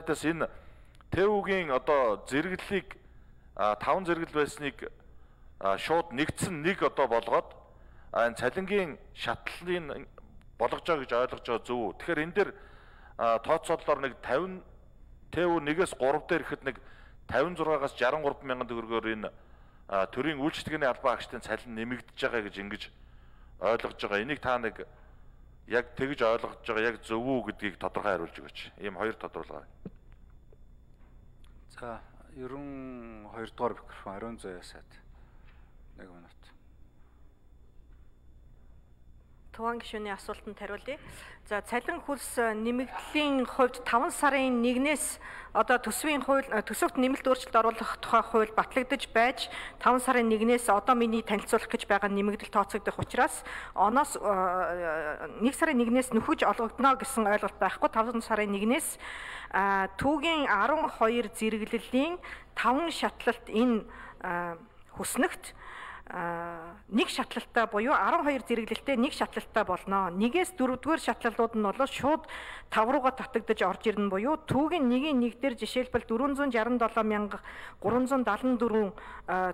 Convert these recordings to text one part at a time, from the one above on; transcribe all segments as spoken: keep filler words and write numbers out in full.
Тэс энэ ТЭВ-гийн одоо зэрэглэлийг таван зэрэгэл байсныг шууд нэгдсэн нэг одоо болгоод энэ цалингийн шатлалын болгож байгаа гэж ойлгож байгаа зөв үү? Тэгэхээр энэ дээр тооцоололоор нэг тавин ТЭВ нэгээс гурав дээр ихэд нэг тавин зургаас жаран гурван мянган төгрөгөөр энэ төрийн үйлчлэгээний албан хаагчдын цалин нэмэгдэж байгаа гэж ингэж ойлгож байгаа. Энийг та нэг яг тэгж ойлгож байгаа яг зөв үү гэдгийг тодорхой хариулж өгөөч. Ийм хоёр тодорхойлгоо. За ерөн хоёр дугаар микрофон Ариун Зоёо сайд нэг минут. Туван гишүүний асуултанд хариулъя. За цалин хөлс нэмэгдлийн хувьд таван сарын нэгнээс одоо төсвийн хууль төсөвт нэмэлт өөрчлөлт оруулах тухай хууль батлагдаж байж таван сарын нэгнээс одоо миний танилцуулах гэж байгаа нэмэгдэл тооцогдох учраас оноос нэг сарын нэгнээс нөхөж олгогдно гэсэн ойлголт байхгүй. таван сарын нэгнээс түүгийн арван хоёр зэрэглэлийн таван шатлалт энэ хүснэгт нэг шатлалттай буюу арван хоёр зэрэглэлтэй нэг шатлалттай болно. Нэгээс дөрөвдүгээр шатлалууд нь бол шууд тав руугаа татагдаж орж ирнэ буюу түүгийн нэгийн нэг дээр жишээлбэл дөрвөн зуун жаран долоо мянга гурван зуун даатан дөрвөн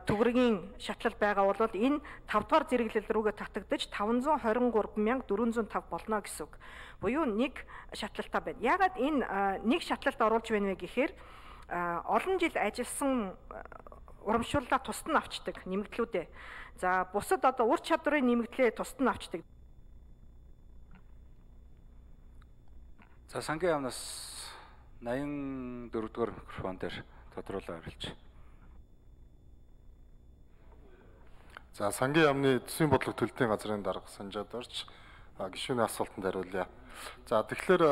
төгрөгийн шатлал байгаа бол энэ тав дахь зэрэглэл рүүгээ татагдаж таван зуун хорин гурван мянга дөрвөн зуун тав болно гэсэн үг. Буюу нэг шатлалтай байна. Яагаад энэ нэг шатлалт оруулж байна вэ гэхээр олон жил ажилласан урамшууллаа тусад нь авчдаг нэмэгдлүүдээ. За бусад одоо ур чадварын нэмэгдлээ тусад нь авчдаг. За сангийн яамнаас наян дөрөвдүгээр микрофон дээр тодруулан хариулж. За сангийн яамны төсвийн бодлого төлөлтийн газрын дарга Санжаад орж гишүүний асуултанд хариулъя. За тэгэхээр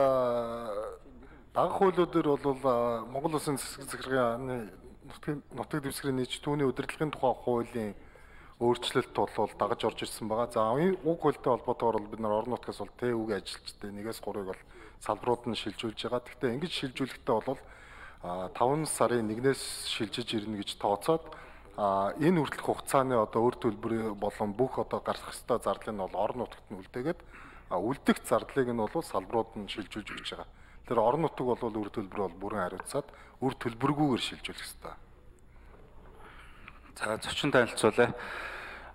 дагах хуулиудаар бол Монгол Улсын засаг захиргааны нутаг дэвсгэрийн нийт түүний удирдлагын тухай хуулийн өөрчлөлт бол дагаж орж ирсэн байгаа. За уг хуультай холбоотойгоор бид нар орон нутгаас бол ТЭВ-гийн ажилчдын нэгээс гурвыг бол салбарууд нь шилжүүлж байгаа. Гэхдээ ингэж шилжүүлэхдээ бол таван сарын нэгнээс шилжиж ирнэ гэж тооцоод энэ хүртэлх хугацааны одоо өр төлбөр болон бүх одоо гарах ёстой зардлыг нь бол орон нутагт нь үлдээгээд үлдэх зардлыг нь бол салбарууд нь шилжүүлж өгч байгаа. Тэр орон нутаг бол өр төлбөр бол бүрэн хариуцаад өр төлбөргүйгээр шилжүүлэх ёстой. За зочин танилцуулъя.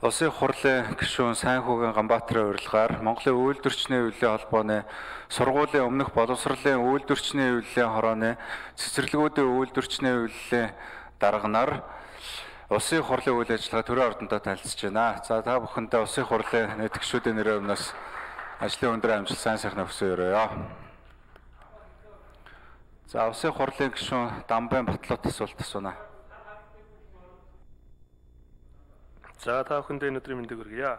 Улсын хурлын гишүүн Сайнхүүгийн Ганбаатарын урилгаар Монголын үйлдвэрчний хөвлийн холбооны сургуулийн өмнөх боловсролын үйлдвэрчний хөвлийн хорооны цэцэрлэгүүдийн үйлдвэрчний хөвлийн дарганаар улсын хурлын үйл ажиллагаа төрийн ордондоо танилцж байна. За та бүхэндээ улсын хурлын нийт гишүүдийн нэрээр өмнөөс ажлын өндөр амжилт сайн сайхны хүсье өрөөё. За улсын хурлын гишүүн Дамбайн Батлууд асуулт асууна. За та бүхэндээ өнөөдрийн мэндийг хүргье.